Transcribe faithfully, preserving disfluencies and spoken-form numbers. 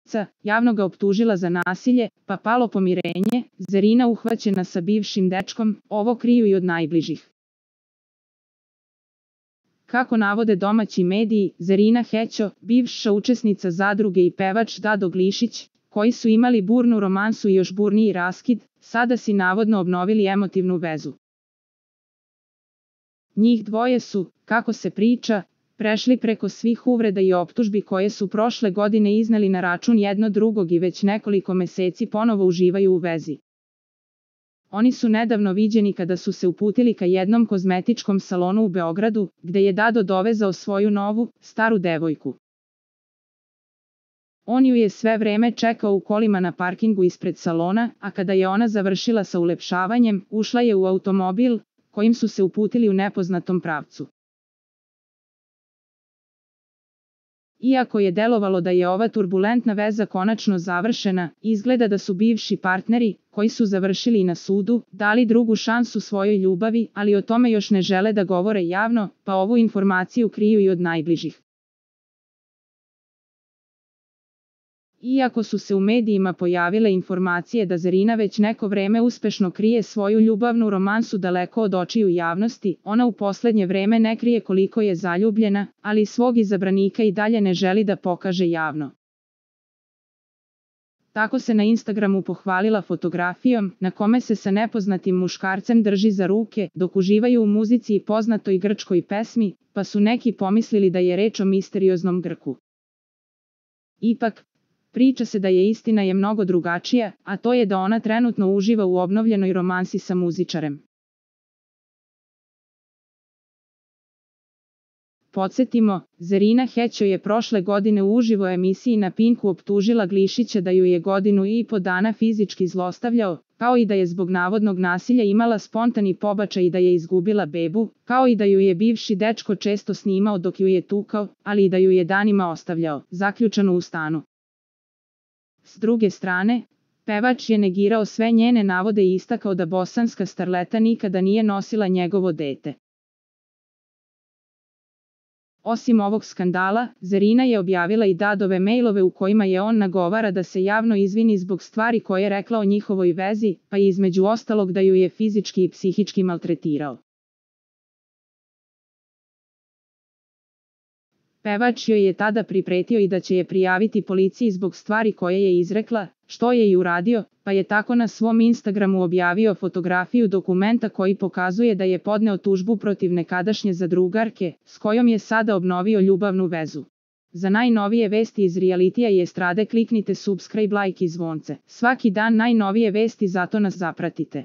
oca, javno ga optužila za nasilje, pa palo pomirenje, Zarina uhvaćena sa bivšim dečkom, ovo kriju i od najbližih. Kako navode domaći mediji, Zarina Hećo, bivša učesnica zadruge i pevač Dado Glišić, koji su imali burnu romansu i još burniji raskid, sada si navodno obnovili emotivnu vezu. Njih dvoje su, kako se priča, prešli preko svih uvreda i optužbi koje su prošle godine izneli na račun jedno drugog i već nekoliko meseci ponovo uživaju u vezi. Oni su nedavno viđeni kada su se uputili ka jednom kozmetičkom salonu u Beogradu, gde je Dado dovezao svoju novu, staru devojku. On ju je sve vreme čekao u kolima na parkingu ispred salona, a kada je ona završila sa ulepšavanjem, ušla je u automobil, kojim su se uputili u nepoznatom pravcu. Iako je delovalo da je ova turbulentna veza konačno završena, izgleda da su bivši partneri, koji su završili na sudu, dali drugu šansu svojoj ljubavi, ali o tome još ne žele da govore javno, pa ovu informaciju kriju i od najbližih. Iako su se u medijima pojavile informacije da Zarina već neko vreme uspešno krije svoju ljubavnu romansu daleko od očiju javnosti, ona u poslednje vreme ne krije koliko je zaljubljena, ali svog izabranika i dalje ne želi da pokaže javno. Tako se na Instagramu pohvalila fotografijom, na kome se sa nepoznatim muškarcem drži za ruke, dok uživaju u muzici i poznatoj grčkoj pesmi, pa su neki pomislili da je reč o misterioznom Grku. Ipak, priča se da je istina je mnogo drugačija, a to je da ona trenutno uživa u obnovljenoj romansi sa muzičarem. Podsjetimo, Zarina Hećo je prošle godine u uživo emisiji na Pinku optužila Glišića da ju je godinu i po dana fizički zlostavljao, kao i da je zbog navodnog nasilja imala spontani pobačaj i da je izgubila bebu, kao i da ju je bivši dečko često snimao dok ju je tukao, ali i da ju je danima ostavljao, zaključanu u stanu. S druge strane, pevač je negirao sve njene navode i istakao da bosanska starleta nikada nije nosila njegovo dete. Osim ovog skandala, Zarina je objavila i Dadove mailove u kojima je on nagovara da se javno izvini zbog stvari koje je rekla o njihovoj vezi, pa i između ostalog da ju je fizički i psihički maltretirao. Pevač joj je tada pripretio i da će je prijaviti policiji zbog stvari koje je izrekla, što je i uradio, pa je tako na svom Instagramu objavio fotografiju dokumenta koji pokazuje da je podneo tužbu protiv nekadašnje zadrugarke, s kojom je sada obnovio ljubavnu vezu. Za najnovije vesti iz realitija i estrade kliknite subscribe, like i zvonce. Svaki dan najnovije vesti, zato nas zapratite.